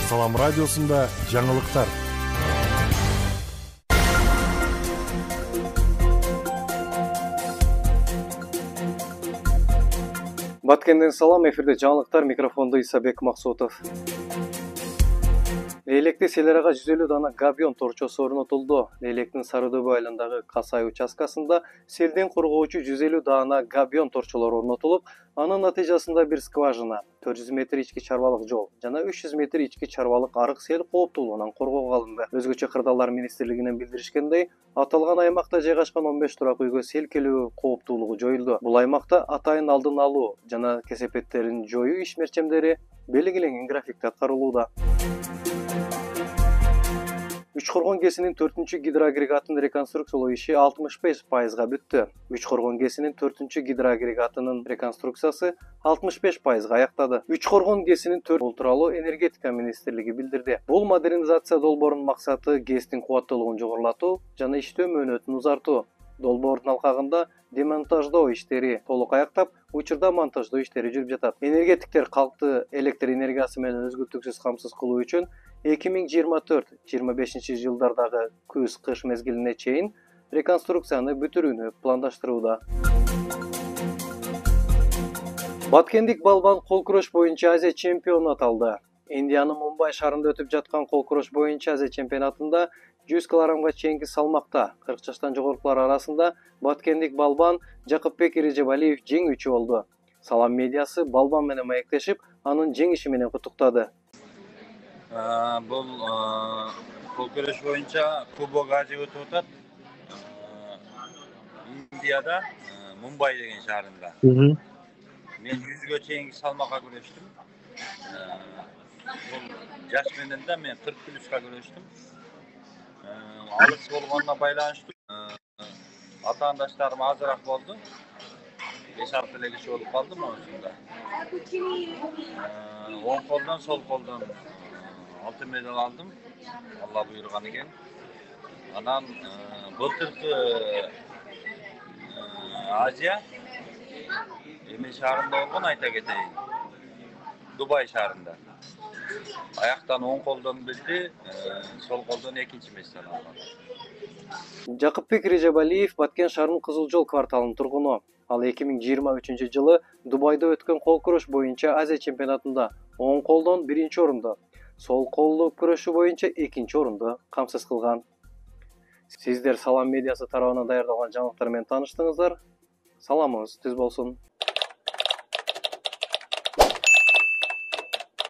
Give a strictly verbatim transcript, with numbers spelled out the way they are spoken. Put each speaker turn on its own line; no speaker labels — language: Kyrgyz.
Салам радиосунда жаңылыктар.
Баткенден салам, эфирде жаңылыктар, микрофондо Исабек Максутов. Лейлекте Селерага жүз элүү дана габион торчосу орнотулду. Лейлектин Сары Дөбө айылындагы Касай участкасында селден коргоочу жүз элүү дана габион торчолор орнотулуп, анын натыйжасында бир скважина, төрт жүз метр ички чарбалык жол жана үч жүз метр ички чарбалык арык сел кооптуулугунан коргоого алынды. Өзгөчө Кырдаалдар министрлигинен билдиришкендей, аталган аймакта жайгашкан он беш турак үйгө сел келүү кооптуулугу жоюлду. Бул аймакта атайын алдын алуу жана кесепеттерин жоюу иш-мерчемдери белгиленген графикте аткарылууда. Үч Коргон ГЭСинин төртүнчү гидроагрегатынын реконструкциялоо иши алтымыш беш пайызга бүттү. Үч Коргон ГЭСинин төртүнчү гидроагрегатынын реконструкциясы алтымыш беш пайызга аяктады. Үч Коргон ГЭСинин төрт бул тууралуу энергетика министрлиги билдирди. Бул модернизация долбоорунун максаты ГЭСтин кубаттуулугун жогорулатуу жана иштөө мөөнөтүн узартуу. Долбоордун алкагында демонтаждоо иштери толук аяктап, учурда монтаждоо иштери жүрүп жатат. Энергетиктер калкты электр энергиясы менен өзгөртүүсүз камсыз кылуу үчүн эки миң жыйырма төрт жыйырма бешинчи жылдардагы күз-кыш мезгилине чейин реконструкцияны бүтүрүүнү пландаштырууда. Баткендик балбан кол күрөш боюнча Азия чемпиону аталды. Индиянын Мумбай шаарында өтүп жаткан кол күрөш боюнча Азия чемпионатында жүз килограммга чейинки салмакта кырк жаштан жогорукулар арасында баткендик балбан Жакыпбек Эрежебалиев жеңүүчү болду. Салам медиасы балбан менен маектешип, анын жеңиши менен куттуктады.
Бул кол күрөш боюнча Кубок Азия өтүп атат. Индияда Мумбай деген шаарында. Мен жүзгө чейинки салмакка күрөштүм. Бул жаш менен да мен кырк плюска күрөштүм. Алыс болгонуна байланыштуу атаандаштарым азыраак болду. беш алты эле киши болуп калдым осунда. Оң колдон, сол колдон алтын медаль алдым. Алла буйруган экен. Анан былтыркы Азия эме шаарында болгон, айта кетейин. Дубай шаарында. Аяктан оң колдон билди, сол колдон экинчи месте алган.
Жакыпбек Эрежебалиев Баткен шаарынын Кызыл Жол кварталынын тургуну. Ал эки миң жыйырма үчүнчү жылы Дубайда өткөн кол күрөш боюнча Азия чемпионатында оң колдон биринчи орунду, сол колдуу күрөшү боюнча экинчи орунду камсыз кылган. Сиздер Салам медиасы тарабынан даярдалган жаңылыктар менен тааныштыңыздар. Саламыңыз түз болсун.